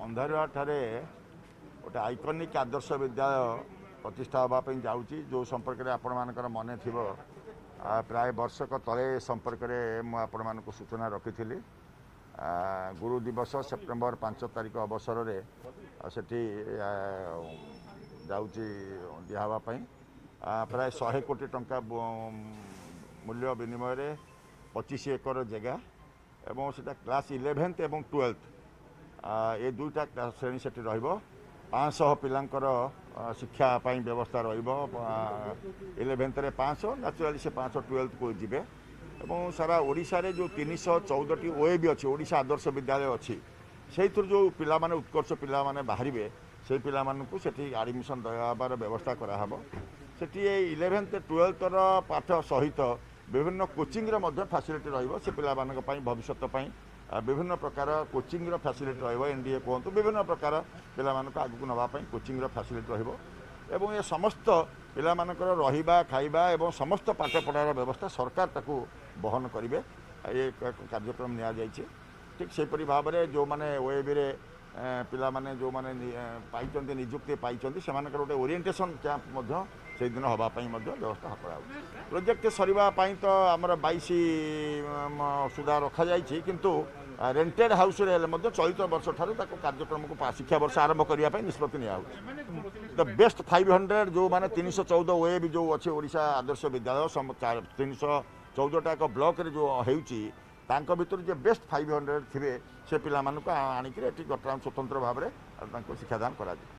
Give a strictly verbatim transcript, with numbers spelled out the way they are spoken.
ଅନ୍ଧାରୁଆଠାରେ ଗୋଟେ ଆଇକନିକ୍ ଆଦର୍ଶ ବିଦ୍ୟାଳୟ ପ୍ରତିଷ୍ଠା ହେବା ପାଇଁ ଯାଉଛି, ଯେଉଁ ସମ୍ପର୍କରେ ଆପଣମାନଙ୍କର ମନେ ଥିବ, ପ୍ରାୟ ବର୍ଷକ ତଳେ ସମ୍ପର୍କରେ ମୁଁ ଆପଣମାନଙ୍କୁ ସୂଚନା ରଖିଥିଲି। ଗୁରୁ ଦିବସ ସେପ୍ଟେମ୍ବର ପାଞ୍ଚ ତାରିଖ ଅବସରରେ ସେଠି ଯାଉଛି ଦିଆହେବା ପାଇଁ। ପ୍ରାୟ ଶହେ କୋଟି ଟଙ୍କା ମୂଲ୍ୟ ବିନିମୟରେ ପଚିଶ ଏକର ଜାଗା ଏବଂ ସେଇଟା କ୍ଲାସ୍ ଇଲେଭେନ୍ଥ ଏବଂ ଟୁଏଲ୍ଥ ଏ ଦୁଇଟା ଶ୍ରେଣୀ ସେଠି ରହିବ। ପାଞ୍ଚଶହ ପିଲାଙ୍କର ଶିକ୍ଷା ପାଇଁ ବ୍ୟବସ୍ଥା ରହିବ। ଇଲେଭେନ୍ଥରେ ପାଞ୍ଚଶହ, ନ୍ୟାଚୁରାଲି ସେ ପାଞ୍ଚଶହ ଟୁଏଲ୍ଥକୁ ଯିବେ। ଏବଂ ସାରା ଓଡ଼ିଶାରେ ଯେଉଁ ତିନିଶହ ଚଉଦଟି ଓ ଏ ବି ଅଛି, ଓଡ଼ିଶା ଆଦର୍ଶ ବିଦ୍ୟାଳୟ ଅଛି, ସେଇଥିରୁ ଯେଉଁ ପିଲାମାନେ ଉତ୍କର୍ଷ ପିଲାମାନେ ବାହାରିବେ, ସେଇ ପିଲାମାନଙ୍କୁ ସେଠି ଆଡ଼ମିସନ୍ ଦେବାର ବ୍ୟବସ୍ଥା କରାହେବ। ସେଠି ଏଇ ଇଲେଭେନ୍ଥ ଟୁଏଲ୍ଥର ପାଠ ସହିତ ବିଭିନ୍ନ କୋଚିଂର ମଧ୍ୟ ଫ୍ୟାସିଲିଟି ରହିବ। ସେ ପିଲାମାନଙ୍କ ପାଇଁ ଭବିଷ୍ୟତ ପାଇଁ ବିଭିନ୍ନ ପ୍ରକାର କୋଚିଂର ଫ୍ୟାସିଲିଟି ରହିବ। ଏନ୍ ଡି ଏ କୁହନ୍ତୁ, ବିଭିନ୍ନ ପ୍ରକାର ପିଲାମାନଙ୍କୁ ଆଗକୁ ନେବା ପାଇଁ କୋଚିଂର ଫ୍ୟାସିଲିଟି ରହିବ। ଏବଂ ଏ ସମସ୍ତ ପିଲାମାନଙ୍କର ରହିବା, ଖାଇବା ଏବଂ ସମସ୍ତ ପାଠପଢ଼ାର ବ୍ୟବସ୍ଥା ସରକାର ତାକୁ ବହନ କରିବେ, ଏ କାର୍ଯ୍ୟକ୍ରମ ନିଆଯାଇଛି। ଠିକ୍ ସେହିପରି ଭାବରେ ଯେଉଁମାନେ ଓଏବିରେ ପିଲାମାନେ ଯେଉଁମାନେ ପାଇଛନ୍ତି, ନିଯୁକ୍ତି ପାଇଛନ୍ତି, ସେମାନଙ୍କର ଗୋଟେ ଓରିଏଣ୍ଟେସନ୍ କ୍ୟାମ୍ପ ମଧ୍ୟ ସେଇଦିନ ହେବା ପାଇଁ ମଧ୍ୟ ବ୍ୟବସ୍ଥା କରାଯାଉଛି। ପ୍ରୋଜେକ୍ଟ ସରିବା ପାଇଁ ତ ଆମର ବାଇଶ ସୁଦ୍ଧା ରଖାଯାଇଛି, କିନ୍ତୁ ରେଣ୍ଟେଡ୍ ହାଉସ୍ରେ ହେଲେ ମଧ୍ୟ ଚଳିତ ବର୍ଷ ଠାରୁ ତାକୁ କାର୍ଯ୍ୟକ୍ରମକୁ ଶିକ୍ଷାବର୍ଷ ଆରମ୍ଭ କରିବା ପାଇଁ ନିଷ୍ପତ୍ତି ନିଆହେଉଛି। The best five hundred ଯେଉଁମାନେ ତିନିଶହ ଚଉଦ ଓଏବି ଯେଉଁ ଅଛି ଓଡ଼ିଶା ଆଦର୍ଶ ବିଦ୍ୟାଳୟ, ତିନିଶହ ଚଉଦଟା ଏକ ବ୍ଲକରେ ଯେଉଁ ହେଉଛି, ତାଙ୍କ ଭିତରୁ ଯେ ବେଷ୍ଟ ଫାଇଭ୍ ହଣ୍ଡ୍ରେଡ଼ ଥିବେ, ସେ ପିଲାମାନଙ୍କୁ ଆଣିକିରି ଏଠି ବର୍ତ୍ତମାନ ସ୍ୱତନ୍ତ୍ର ଭାବରେ ତାଙ୍କୁ ଶିକ୍ଷାଦାନ କରାଯିବ।